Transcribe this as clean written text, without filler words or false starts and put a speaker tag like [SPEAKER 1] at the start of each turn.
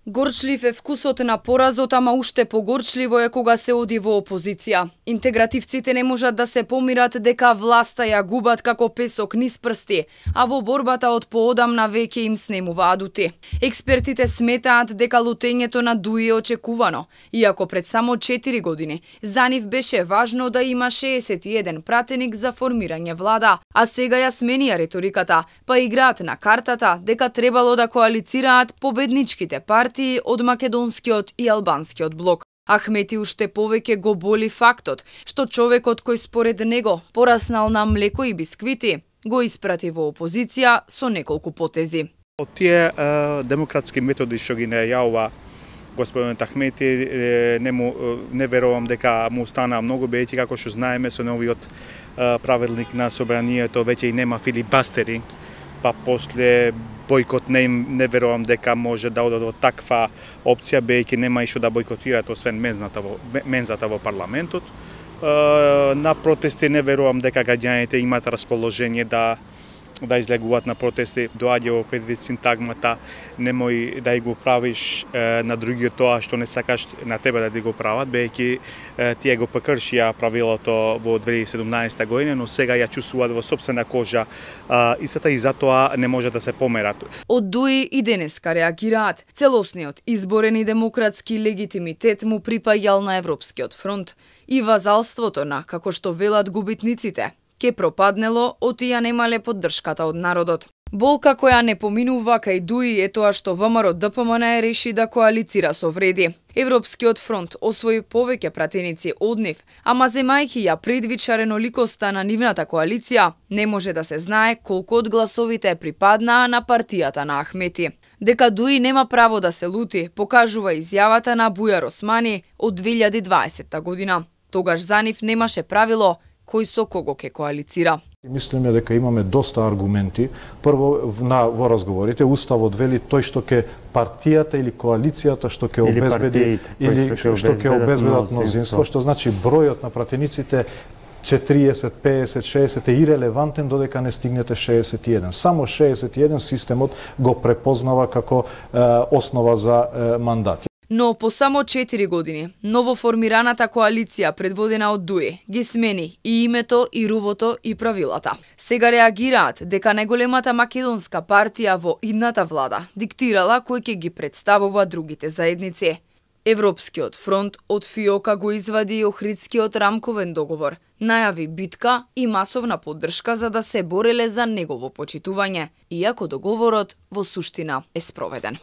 [SPEAKER 1] Горчлив е вкусот на поразот, ама уште погорчливо е кога се оди во опозиција. Интегративците не можат да се помират дека власта ја губат како песок низ прсти, а во борбата од поодамна веќе им снемува адути. Експертите сметаат дека лутењето на Дуи е очекувано, иако пред само 4 години за нив беше важно да има 61 пратеник за формирање влада, а сега ја сменија риториката, па играат на картата дека требало да коалицираат победничките партии од македонскиот и албанскиот блок. Ахмети уште повеќе го боли фактот што човекот кој според него пораснал на млеко и бисквити го испрати во опозиција со неколку потези.
[SPEAKER 2] Од тие демократски методи што ги најавува господин Ахмети, не верувам дека му стана многу, бидејќи како што знаеме со новиот правилник на собранието веќе и нема филибастеринг, па после бојкот не верувам дека може да оде до таква опција, бидејќи нема и што да бојкотираат освен мензата во парламентот. На протести не верувам дека граѓаните имаат расположение да излегуваат на протести. Доаѓа во предвид синтагмата немој да го правиш на другиот тоа што не сакаш на тебе да ти го прават, бидејќи тие го прекршија правилото во 2017 година, но сега ја чувствуваат во сопствена кожа истата и затоа не може да се померат.
[SPEAKER 1] Од Дуи и денеска реагираат. Целосниот изборен и демократски легитимитет му припаѓал на Европскиот фронт и вазалството на, како што велат губитниците, ке пропаднело од ја немале поддршката од народот. Болка која не поминува кај Дуи е тоа што ВМРО ДПМН реши да коалицира со Вреди. Европскиот фронт освои повеќе пратеници од нив, ама земајќи ја предвид реноликоста на нивната коалиција, не може да се знае колку од гласовите припаднаа на партијата на Ахмети. Дека Дуи нема право да се лути, покажува изјавата на Бујар Османи од 2020 година. Тогаш за нив немаше правило кој со кого ќе коалицира.
[SPEAKER 3] Мислиме дека имаме доста аргументи. Прво, во разговорите, Уставот вели тој што ќе партијата или коалицијата што ќе обезбеди или што ќе обезбедат мнозинство, што значи бројот на пратениците 40, 50, 60 е ирелевантен додека не стигнете 61. Само 61 системот го препознава како основа за мандат.
[SPEAKER 1] Но по само 4 години, новоформираната коалиција предводена од Дуи ги смени и името, и рувото, и правилата. Сега реагираат дека најголемата македонска партија во идната влада диктирала кој ќе ги представува другите заедници. Европскиот фронт од фиока го извади и Охридскиот рамковен договор, најави битка и масовна поддршка за да се бореле за негово почитување, иако договорот во суштина е спроведен.